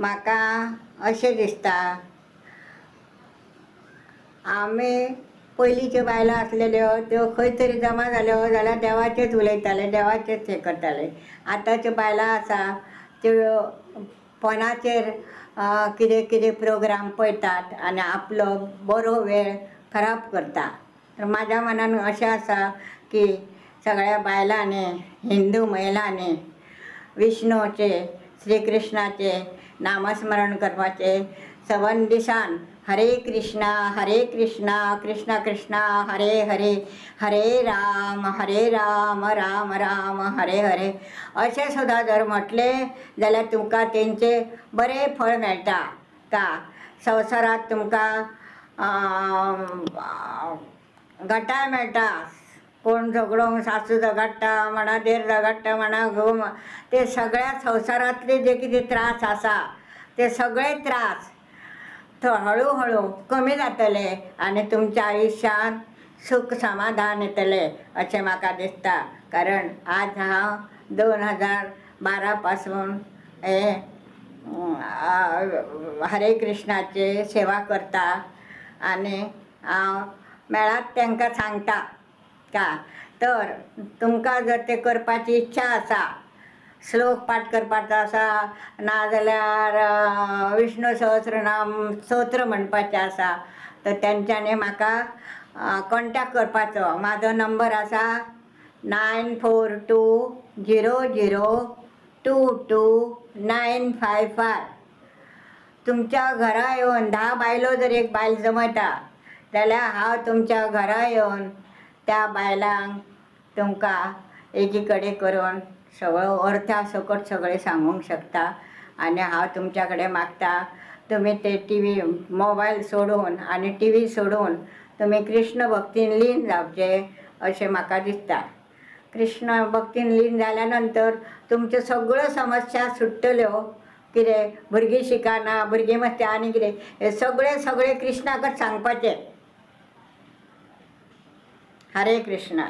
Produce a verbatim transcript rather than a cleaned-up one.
म्हाका अशें दिसता, आमी पयलींच्यो बायलो आसलेल्यो त्यो खंय तरी जमा जाल्यो जाल्यार देवाचेच उलयताले, देवाचेच हें करताले. आतांच्यो बायलां आसा त्यो फोनाचेर कितें कितें प्रोग्राम पळयतात आनी आपलो बरो वेळ खराब करता. तर म्हाज्या मनान अशें आसा की सगळ्या बायलांनी, हिंदू महिलांनी विष्णूचे, श्री कृष्णाचे नामस्मरण करपाचें. सवन दिसान हरे कृष्णा हरे कृष्णा कृष्णा कृष्णा हरे हरे, हरे राम हरे राम राम राम हरे हरे अशें सुद्दां जर म्हटलें जाल्यार तुमकां तेंचें बरें फळ मेळटा. का संवसारांत तुमकां घटाय मेळटा. कोण झगडोंक, सासू झगडटा म्हणा, देर झगडटा म्हणा, घोव, ते सगळ्या संवसारांतले जे कितें त्रास आसा ते सगळे त्रास हळू हळू कमी जातले आनी तुमच्या आयुश्यांत सूख समाधान येतलें अशें म्हाका दिसता. कारण आज हांव दोन हजार बारा पासून हे हरे कृष्णाची सेवा करता आनी हांव मेळात तांकां सांगता का तर तुमकां जर तें करपाची इच्छा आसा, श्लोक पाठ करपाचो आसा, नाजाल्यार विष्णू सहस्रनाम स्तोत्र म्हणपाचें आसा, तर तेंच्यांनी म्हाका कॉन्टेक्ट करपाचो. म्हाजो नंबर आसा nine four two zero zero two two nine five five. तुमच्या घरा येवन धा बायलो जर एक बायल जमयता जाल्यार हांव तुमच्या घरा येवन त्या बायलांक तुमकां एकी कडेन करून सगळो अर्था सकट सगळें सांगूंक शकता. आनी हांव तुमच्या कडेन मागता, तुमी ते टी व्ही मोबायल सोडून आनी टी व्ही सोडून तुमी कृष्ण भक्तीन लीन जावचें अशें म्हाका दिसता. कृष्ण भक्तीन लीन जाल्या नंतर तुमच्यो सगळ्यो समस्या सुट्टल्यो. कितें भुरगीं शिकना, भुरगीं मस्ती आनी कितें, हें सगळें सगळें कृष्णाकच सांगपाचें. हरे कृष्णा.